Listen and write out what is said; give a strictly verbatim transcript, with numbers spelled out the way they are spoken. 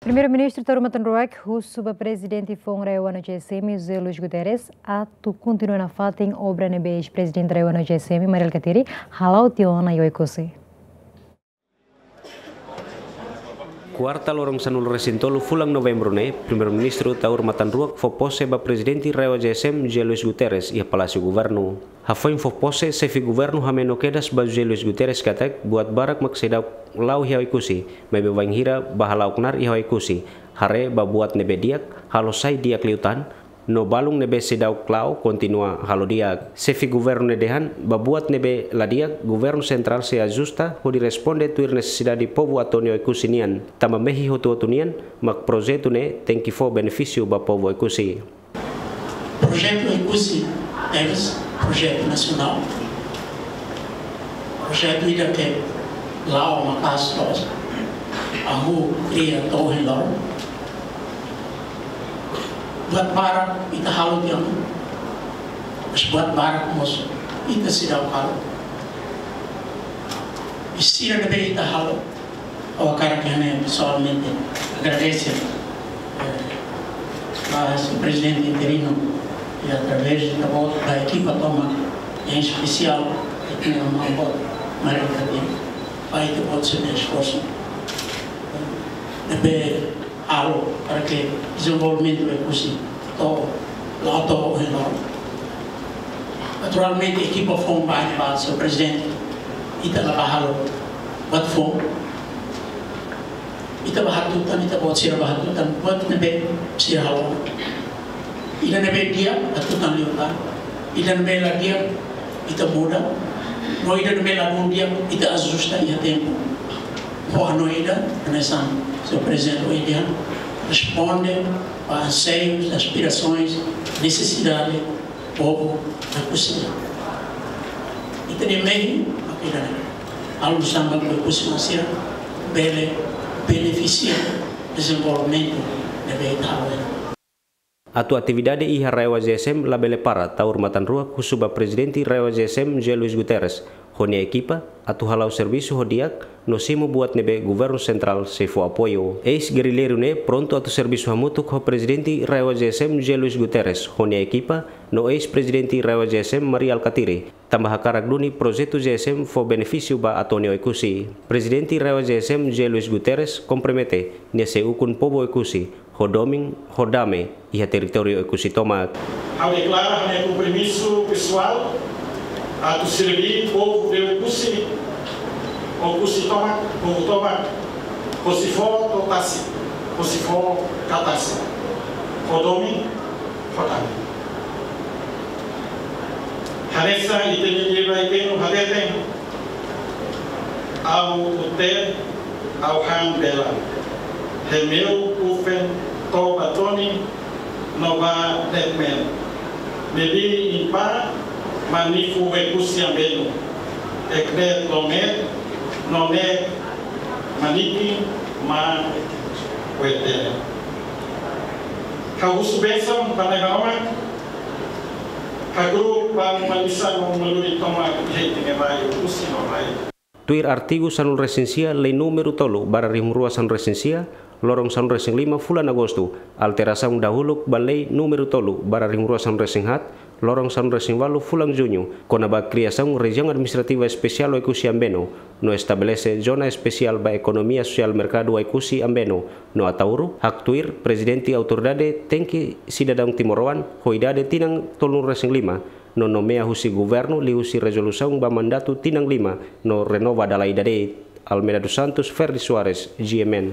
Primeiru-Ministru Taur Matan Ruak husu ba Prezidente Foun RAEOA no G S M, José Luís Guterres, atu kontinua nafatin obra ne'ebé eis-Prezidente RAEOA no G S M, Mari Alkatiri, hala'o tiha ona iha Oekusi. Kuarta loron sanulu-resin-tolu fulan Novembru ne'e, Primeiru-Ministru Taur Matan Ruak fó pose ba Prezidente RAEOA G S M, José Luís Guterres, iha Palásiu Governu. Hafoin fó pose, Xefe Governu hameno kedas ba José Luís Guterres katak buat barak mak seidauk la'o iha Oekusi, maibé bainhira bá hala'o knaar iha Oekusi, haree ba buat ne'ebé di'ak, halo sai di'ak liután, no balun ne'ebé seidauk la'o kontinua halo di'ak. Xefe Governu ne'e dehan, ba buat ne'ebé la di'ak, Governu Sentrál sei ajusta hodi responde tuir nesesidade povu Atoni Oekusi nian, tanba mehi hotu-hotu nian, mak projetu ne'e tenke fó benefísiu ba povu Oekusi. Projetu Oekusi tebes projetu nasionál. Projetu ida ke la'o maka'as loos. Hahú kria to'o ohin loron. Buat barak ita halo tiha ona. Mas buat barak mós ita seidauk halo. I sira ne'ebé ita halo, ha'u hakarak hanoin pesoalmente agradese, eh, ba Señór Prezidente interinu, i através de ita-boot ba ekipa tomak, em especial, ita-nia maun-boot Mari Alkatiri, ba ita-boot sira-nia esforsu ne'ebé halo para ke dezenvolvimentu Oekusi to'o, la'o to'o ohin loron. Naturalmente, ekipa foun ba, ba Señór Prezidente, ita la bá halo buat foun. Ita bá hatutan, ita-boot sira bá hatutan buat ne'ebé sira halo. Ida ne'ebé di'ak, hatutan liután. Ida ne'ebé la di'ak, ita muda. No ida ne'ebé la dún di'ak, ita ajusta iha tempu. Ho hanoin ida, hanesan Señór Prezidente ohin dehan, responde ba anseius, aspirasoens, nesesidade povu Oekusi. Ita-nia mehi mak ida-ne'e. Halo nu'usá mak Oekusi-oan sira bele benefisia dezenvolvimentu ne'ebé ita halo. Atu atividade iha RAEOA G S M labele para, Taur Matan Ruak husu ba Prezidente RAEOA G S M, José Luís Guterres, ho nia ekipa, atu hala'o servisu ho di'ak, no simu buat ne'ebé Governu Sentrál sei fó apoiu. Eis-gerrilleiru ne'e prontu atu servisu hamutuk ho Prezidente RAEOA G S M, José Luís Guterres, ho nia ekipa, no eis-Prezidente RAEOA G S M, Mari Alkatiri, tanba hakarak duni projetu G S M fó benefísiu ba Atoni Oekusi. Prezidente RAEOA G S M, José Luís Guterres, kompromete nia sei ukun povu Oekusi, ho domin, ho dame, iha territóriu Oekusi tomak. Ha'u deklara ha'u-nia kompromisu pesoál atu serví povu de Oekusi, Oekusi tomak, povu tomak, hosi foho to'o tasi, hosi foho ka tasi, ho domin, ho dame. Hanesan ita-nia liurai benu hateten, Amu Ute, Amu Han Belan, Hemeu Ufen, Toba Toni, no ba Detmen. Mebi impa manifu Oekusi Ambenu, eknet lomet, no ne maniki ma wetele. Ha'u husu bensaun ba Na'i Maromak, ha'u hakarak ba malisa no maluri tomak iha ita-nia rai Oekusi no rai. Tuir artigu sanulu-resin-sia Lei númeru tolu barra rihun rua sanulu-resin-sia, loron sanulu-resin-lima fulan Agostu, alterasaun dahuluk ba Lei númeru tolu barra rihun rua sanulu-resin-haat, loron sanulu-resin-ualu fulan Juñu, kona-ba kriasaun Rejiaun Administrativa Espesiál Oekusi Ambenu, no estabelese Zona Espesiál ba Ekonomia Sosiál Merkadu Oekusi Ambenu, no Ataúro, haktuir Prezidente Autoridade tenke sidadaun timoroan ho idade tinan tolunulu-resin-lima, no nomeia husi Governu liuhusi rezolusaun ba mandatu tinan lima, no renova dala ida de'it. Almeida dos Santos, Ferdi Soares, G M N.